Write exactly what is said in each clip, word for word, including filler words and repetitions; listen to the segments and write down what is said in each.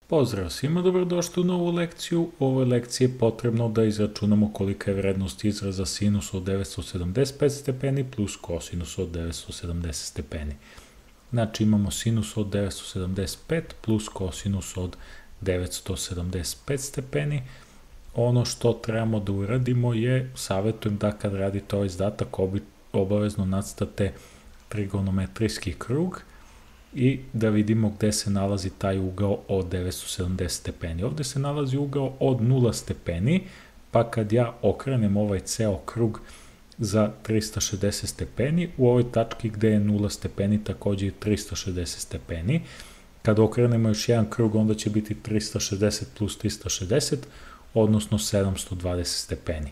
Pozdrav svima, dobrodošli u novu lekciju. U ovoj lekciji je potrebno da izračunamo kolika je vrednost izraza sinus od devetsto sedamdeset pet stepeni plus kosinus od devetsto sedamdeset stepeni. Znači imamo sinus od devetsto sedamdeset pet plus kosinus od devetsto sedamdeset pet stepeni. Ono što trebamo da uradimo je, savjetujem da kad radite ovaj zadatak obavezno nacrtate trigonometrijski krug i da vidimo gde se nalazi taj ugao od devetsto sedamdeset stepeni. Ovde se nalazi ugao od nula stepeni, pa kad ja okrenem ovaj ceo krug za trista šezdeset stepeni, u ovoj tački gde je nula stepeni takođe je trista šezdeset stepeni. Kad okrenemo još jedan krug, onda će biti trista šezdeset plus trista šezdeset, odnosno sedamsto dvadeset stepeni.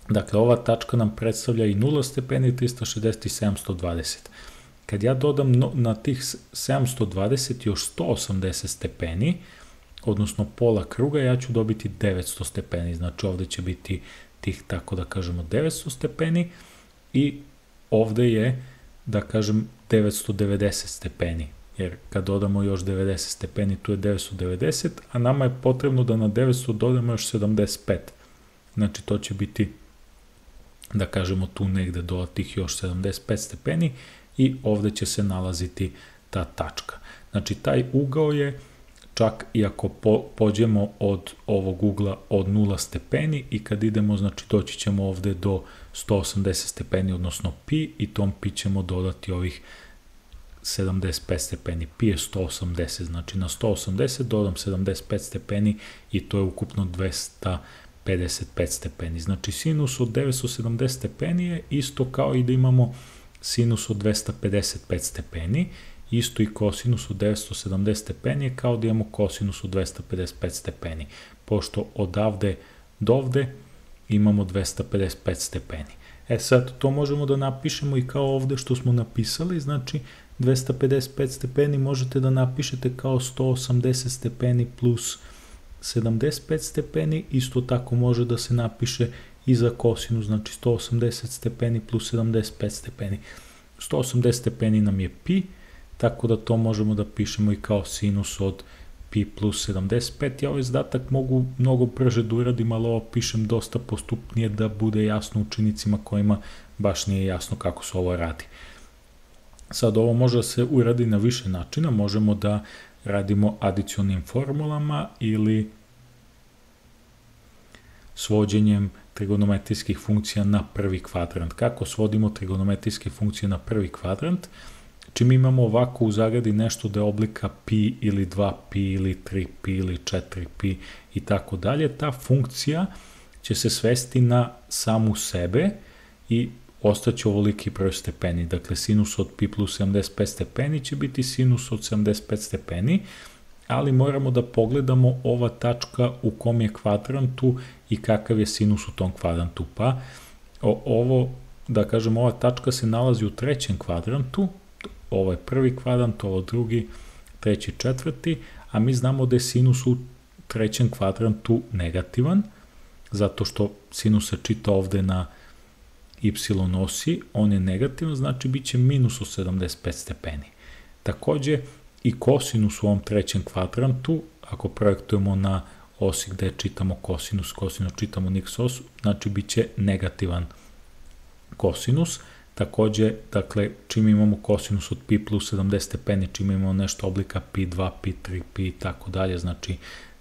Dakle, ova tačka nam predstavlja i nula stepeni, trista šezdeset i sedamsto dvadeset. Kad ja dodam na tih sedamsto dvadeset još sto osamdeset stepeni, odnosno pola kruga, ja ću dobiti devetsto stepeni. Znači ovde će biti tih, tako da kažemo, devetsto stepeni i ovde je, da kažem, devetsto devedeset stepeni. Jer kad dodamo još devedeset stepeni, tu je devetsto devedeset, a nama je potrebno da na devetsto dodamo još sedamdeset pet. Znači to će biti, da kažemo, tu negde do tih još sedamdeset pet stepeni i ovde će se nalaziti ta tačka. Znači taj ugao je, čak i ako po, pođemo od ovog ugla od nula stepeni i kad idemo, znači doći ćemo ovde do sto osamdeset stepeni, odnosno pi, i tom pi ćemo dodati ovih sedamdeset pet stepeni. Pi je sto osamdeset, znači na sto osamdeset dodam sedamdeset pet stepeni i to je ukupno dvesta pedeset pet stepeni. Znači sinus od devetsto sedamdeset stepeni je isto kao i da imamo sinus od dvesta pedeset pet stepeni, isto i kosinus od devetsto sedamdeset stepeni je kao da imamo kosinus od dvesta pedeset pet stepeni, pošto odavde do ovde imamo dvesta pedeset pet stepeni. E sad, to možemo da napišemo i kao ovde što smo napisali, znači dvesta pedeset pet stepeni možete da napišete kao sto osamdeset stepeni plus sedamdeset pet stepeni, isto tako može da se napiše i za kosinus, znači sto osamdeset stepeni plus sedamdeset pet stepeni. sto osamdeset stepeni nam je pi, tako da to možemo da pišemo i kao sinus od pi plus sedamdeset pet. Ja ovaj zadatak mogu mnogo brže da uradim, ali ovo pišem dosta postupnije da bude jasno učenicima kojima baš nije jasno kako se ovo radi. Sad ovo može da se uradi na više načina, možemo da radimo adicionim formulama ili svođenjem trigonometrijskih funkcija na prvi kvadrant. Kako svodimo trigonometrijske funkcije na prvi kvadrant? Čim imamo ovako u zagradi nešto da je oblika pi ili dva pi ili tri pi ili četiri pi i tako dalje, ta funkcija će se svesti na samu sebe i ostaće ovoliki broj stepeni. Dakle, sinus od pi plus sedamdeset pet stepeni će biti sinus od sedamdeset pet stepeni, ali moramo da pogledamo ova tačka u kom je kvadrantu i kakav je sinus u tom kvadrantu. Pa ovo, da kažem, ova tačka se nalazi u trećem kvadrantu, ovo je prvi kvadrant, ovo drugi, treći, četvrti, a mi znamo da je sinus u trećem kvadrantu negativan, zato što sinus se čita ovde na y osi, on je negativan, znači bit će minus od sedamdeset pet stepeni. Takođe, i kosinus u ovom trećem kvadrantu, ako projektujemo na osi gde čitamo kosinus, kosinus čitamo na x osu, znači bit će negativan kosinus. Takođe, dakle, čim imamo kosinus od pi plus sedamdeset stepeni, čim imamo nešto oblika pi dva, pi tri, pi i tako dalje, znači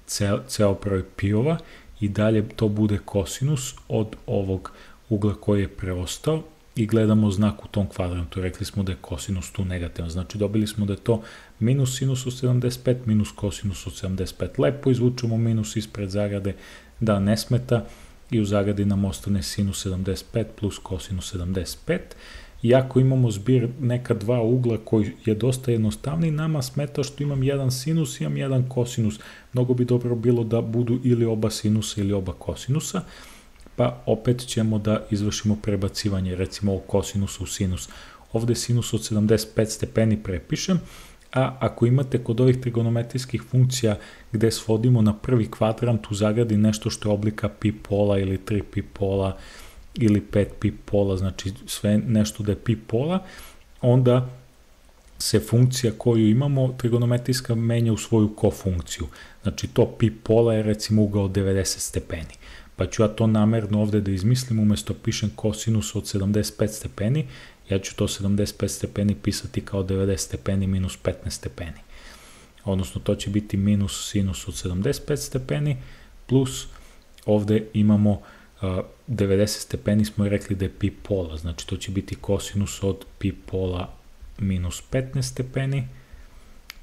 ceo, ceo broj piova i dalje to bude kosinus od ovog ugla koji je preostao i gledamo znak u tom kvadrantu. Rekli smo da je kosinus tu negativan, znači dobili smo da je to minus sinus od sedamdeset pet minus kosinus od sedamdeset pet. Lepo izvučemo minus ispred zagrade da ne smeta i u zagradi nam ostane sinus sedamdeset pet plus kosinus sedamdeset pet. Iako imamo zbir neka dva ugla koji je dosta jednostavni, nama smeta što imam jedan sinus i imam jedan kosinus. Mnogo bi dobro bilo da budu ili oba sinusa ili oba kosinusa, pa opet ćemo da izvršimo prebacivanje, recimo ovo kosinusa u sinus. Ovde sinus od sedamdeset pet stepeni prepišem, a ako imate kod ovih trigonometrijskih funkcija gde svodimo na prvi kvadrant u zagradi nešto što je oblika pi pola ili tri pi pola ili pet pi pola, znači sve nešto da je pi pola, onda se funkcija koju imamo trigonometrijska menja u svoju kofunkciju. Znači to pi pola je recimo ugao devedeset stepeni. Pa ću ja to namerno ovde da izmislim, umesto pišem kosinus od sedamdeset pet stepeni, ja ću to sedamdeset pet stepeni pisati kao devedeset stepeni minus petnaest stepeni. Odnosno to će biti minus sinus od sedamdeset pet stepeni, plus ovde imamo uh, devedeset stepeni, smo i rekli da je pi pola, znači to će biti kosinus od pi pola minus petnaest stepeni,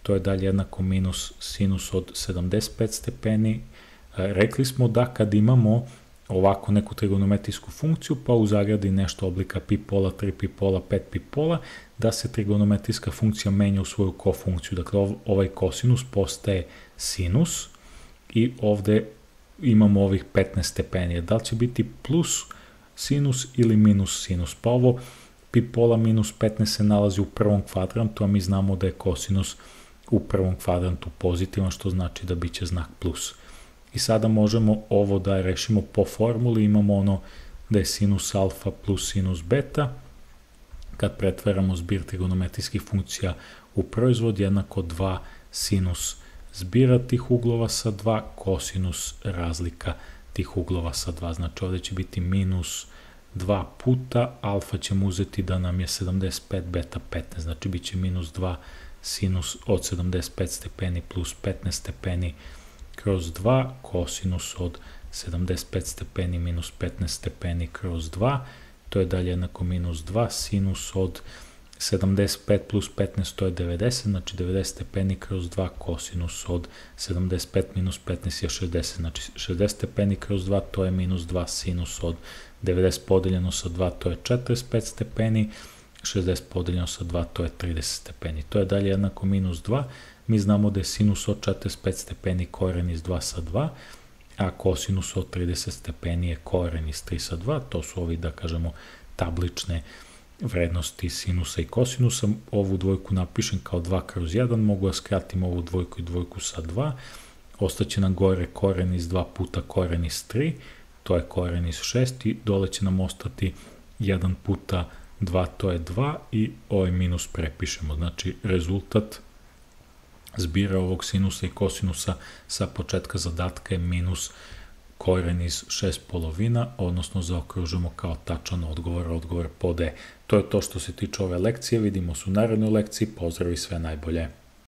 to je dalje jednako minus sinus od sedamdeset pet stepeni. Rekli smo da kad imamo ovako neku trigonometrijsku funkciju, pa u zagradi nešto oblika pi pola, tri pi pola, pet pi pola, da se trigonometrijska funkcija menja u svoju kofunkciju. Dakle, ovaj kosinus postaje sinus i ovde imamo ovih petnaest stepeni. Da li će biti plus sinus ili minus sinus? Pa ovo pi pola minus petnaest se nalazi u prvom kvadrantu, a mi znamo da je kosinus u prvom kvadrantu pozitivan, što znači da biće znak plus. I sada možemo ovo da rešimo po formuli, imamo ono da je sinus alfa plus sinus beta, kad pretvaramo zbir trigonometrijskih funkcija u proizvod, jednako dva sinus zbira tih uglova sa dva, kosinus razlika tih uglova sa dva. Znači ovde će biti minus dva puta, alfa ćemo uzeti da nam je sedamdeset pet, beta petnaest, znači bit će minus dva sinus od sedamdeset pet stepeni plus petnaest stepeni kroz dva, kosinus od sedamdeset pet stepeni minus petnaest stepeni kroz dva, to je dalje jednako minus dva, sinus od sedamdeset pet plus petnaest, to je devedeset, znači devedeset stepeni kroz dva, kosinus od sedamdeset pet minus petnaest je šezdeset, znači šezdeset stepeni kroz dva, to je minus dva, sinus od devedeset podeljeno sa dva, to je četrdeset pet stepeni, šezdeset podeljeno sa dva, to je trideset stepeni, to je dalje jednako minus dva, mi znamo da je sinus od četrdeset pet stepeni koren iz dva sa dva, a kosinus od trideset stepeni je koren iz tri sa dva, to su ovi, da kažemo, tablične vrednosti sinusa i kosinusa. Ovu dvojku napišem kao dva kroz jedan, mogu da skratim ovu dvojku i dvojku sa dva, ostaće nam gore koren iz dva puta koren iz tri, to je koren iz šest i dole će nam ostati jedan puta dva, to je dva i ovaj minus prepišemo. Znači rezultat zbira ovog sinusa i kosinusa sa početka zadatka je minus koren iz šest polovina, odnosno zaokružujemo kao tačan odgovor, odgovor pod E. To je to što se tiče ove lekcije, vidimo se u narednoj lekciji, pozdrav i sve najbolje.